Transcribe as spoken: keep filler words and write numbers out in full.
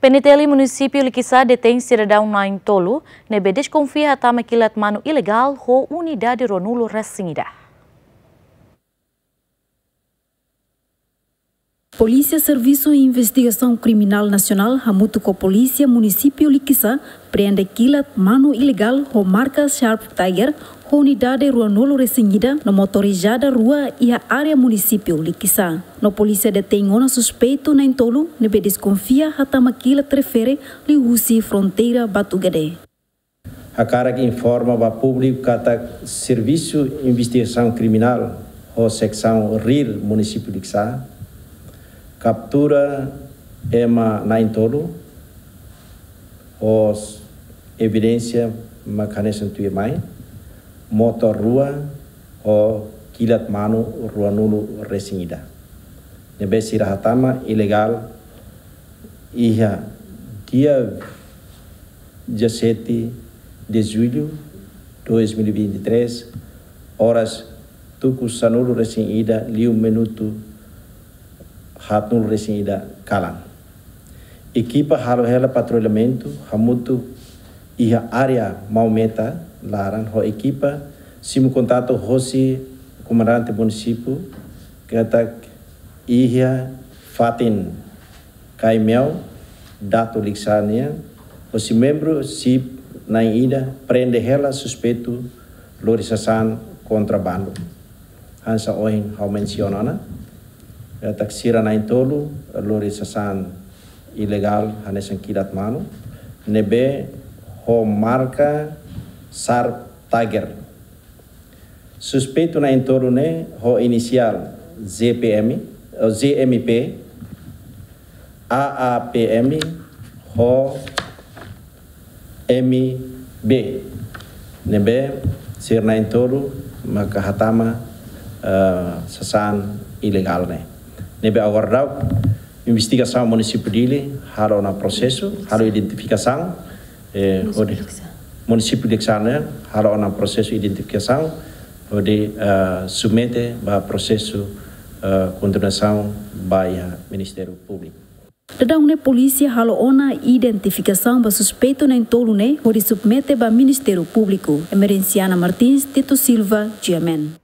P N T L Munisípiu Likisá detein sidadaun na'in-tolu ne'ebé deskonfia hatama kilat manu ilegál ho unidade ruanulu resin ida. Polísia Servisu Investigasaun Kriminál Nasionál hamutuk ho Polísia Munisípiu Likisá prende kilat manu ilegál ho marka Sharp Tiger ho unidade ruanulu resin ida no motorizada rua iha área munisípiu Likisá. No polísia detein ona suspeitu na'in-tolu ne'ebé deskonfia hatama kilat refere liuhusi fronteira Batugade. Hakarak informa ba públiku katak Servisu Investigasaun Kriminál ho Seksaun RIR Munisípiu Likisá kaptura ema na'in-tolu ho evidénsia mak hanesan tuirmai, motór rua ho kilat manu ruanulu resin ida ne'ebé sira hatama ilegál iha dia dezassete de julho de dois mil e vinte e três, oras tuku sanulu resin ida liu minutu haatnulu resin ida kalan. Ekipa halo hela patrullamentu hamutuk iha área Maumeta laran ho ekipa simu kontaktu hosi komandante munisípiu katak iha fatin Kaimeu, Datu Likisá nian, hosi membru SIP na'in ida prende hela suspeitu lori sasán kontrabandu. Hanesan ohin ha'u mensiona ona, katak sira na'in-tolu lori sasán ilegál hanesan kilat manu ne'ebé ho marka Sharp Tiger. Suspeitu na'in-tolu ne'e ho inisiál Z P M, eh, Z M P, A A P M ho M B. Ne'ebé sira na'in-tolu maka hatama, eh, sasán ilegál ne'e. Ne'ebé agora daudaun investigasaun munisípiu Dili halo ona prosesu, halo identifikasaun, eh, Munisípiu hodi Likisá. Munisípiu Likisá ne'e halo ona prosesu identifikasaun hodi, eh, submete ba prosesu, eh, kontinuasaun ba iha Ministériu Públiku. Daudaun ne'e polísia halo ona identifikasaun ba suspeitu na'in-tolu ne'e hodi submete ba Ministériu Públiku. Emerenciana Martins, Tito Silva, G M N.